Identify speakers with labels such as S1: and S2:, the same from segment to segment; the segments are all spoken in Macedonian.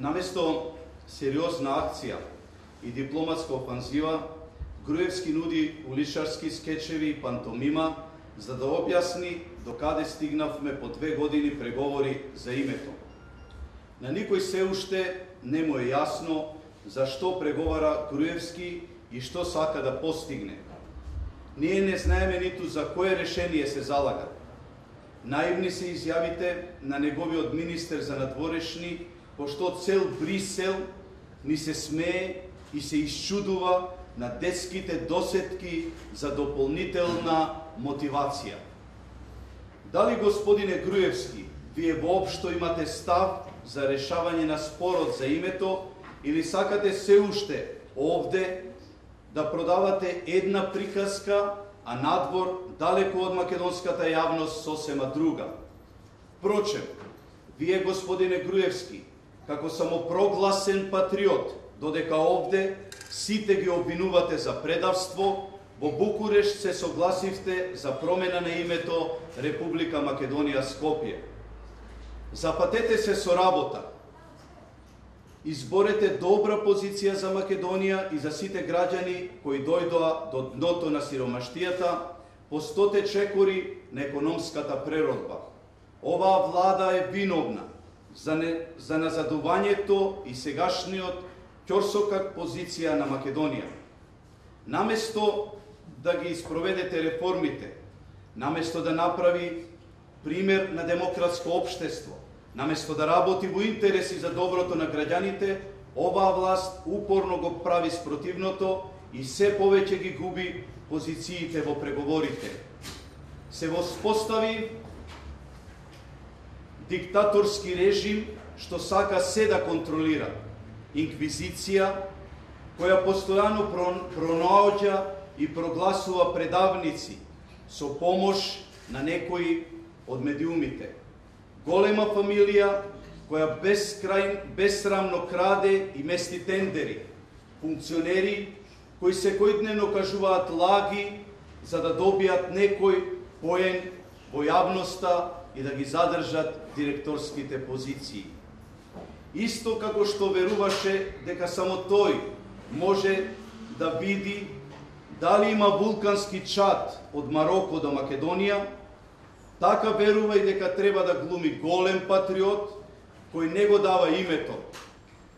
S1: Наместо сериозна акција и дипломатска офанзива, Груевски нуди уличарски скечеви и пантомима за да објасни докаде стигнавме по 2 години преговори за името. На никој се уште не му е јасно зашто преговара Груевски и што сака да постигне. Ние не знаеме ниту за кое решение се залага. Наивни се изјавите на неговиот министер за надворешни, пошто цел Брисел ни се смее и се исчудува на детските досетки за дополнителна мотивација. Дали, господине Груевски, вие воопшто имате став за решавање на спорот за името или сакате се уште овде да продавате една приказка, а надвор, далеко од македонската јавност, сосема друга? Впрочем, вие, господине Груевски, како самопрогласен патриот, додека овде сите ги обвинувате за предавство, во Букурешт се согласивте за промена на името Република Македонија Скопје. Запатете се со работа. Изборете добра позиција за Македонија и за сите граѓани кои дојдоа до дното на сиромаштијата по 100 чекори на економската преродба. Оваа влада е виновна за назадувањето и сегашниот ќорсокак позиција на Македонија. Наместо да ги испроведете реформите, наместо да направи пример на демократско општество, наместо да работи во интереси за доброто на граѓаните, оваа власт упорно го прави спротивното и се повеќе ги губи позициите во преговорите. Се воспостави диктаторски режим што сака се да контролира. Инквизиција која постојано пронаоѓа и прогласува предавници со помош на некои од медиумите. Голема фамилија која безсрамно краде и мести тендери. Функционери кои секојдневно кажуваат лаги за да добијат некој поен во јавноста и да ги задржат директорските позиции. Исто како што веруваше дека само тој може да види дали има вулкански чад од Мароко до Македонија, така верува и дека треба да глуми голем патриот кој не го дава името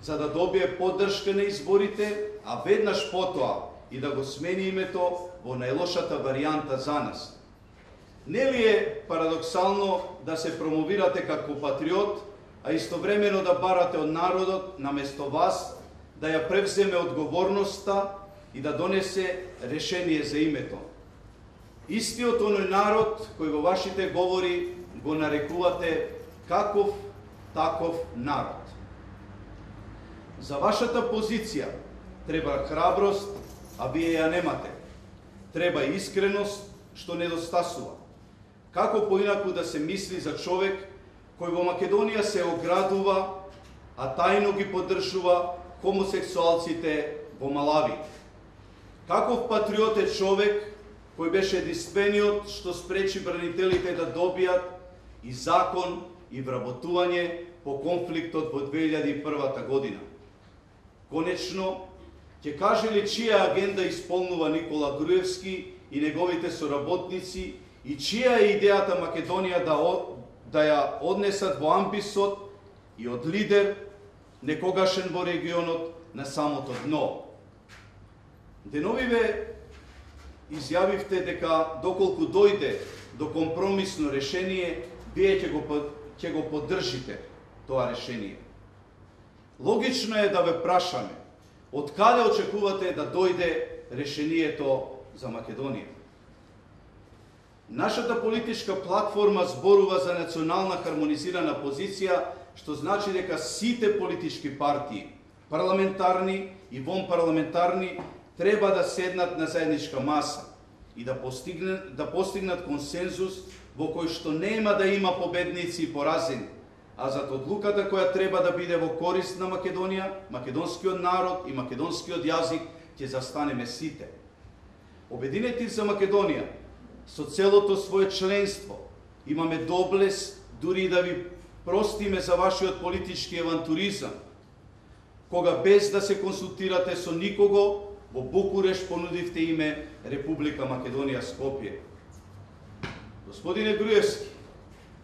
S1: за да добие поддршка на изборите, а веднаш потоа и да го смени името во најлошата варијанта за нас. Нели е парадоксално да се промовирате како патриот, а истовремено да барате од народот наместо вас да ја превземе одговорноста и да донесе решение за името? Истиот оној народ кој во вашите говори го нарекувате каков таков народ. За вашата позиција треба храброст, а вие ја немате. Треба искреност, што недостасува. Како поинаку да се мисли за човек кој во Македонија се оградува, а тајно ги поддржува хомосексуалците во Малави? Каков патриот е човек кој беше единствениот што спречи бранителите да добијат и закон и вработување по конфликтот во 2001 година? Конечно, ќе каже ли чија агенда исполнува Никола Груевски и неговите соработници и чија е идејата Македонија да ја однесат во амбисот и од лидер некогашен во регионот на самото дно? Деновиве изјавивте дека доколку дојде до компромисно решение, вие ќе го поддржите тоа решение. Логично е да ве прашаме, од каде очекувате да дојде решението за Македонија? Нашата политичка платформа зборува за национална хармонизирана позиција, што значи дека сите политички партии, парламентарни и вонпарламентарни, треба да седнат на заедничка маса и да постигнат консензус во кој што нема да има победници и поразени, а зад одлуката која треба да биде во корист на Македонија, македонскиот народ и македонскиот јазик ќе застанеме сите. Обединети за Македонија, со целото свое членство, имаме доблес дури да ви простиме за вашиот политички авантуризам, кога без да се консултирате со никого, во Букуреш понудивте име Република Македонија Скопје. Господине Груевски,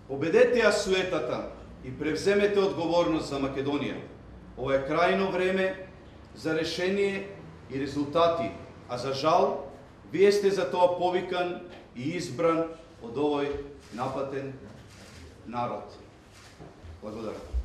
S1: победете ја суетата и превземете одговорност за Македонија. Ова е крајно време за решение и резултати, а за жал, вие сте за тоа повикан и избран од овој напатен народ. Благодарам.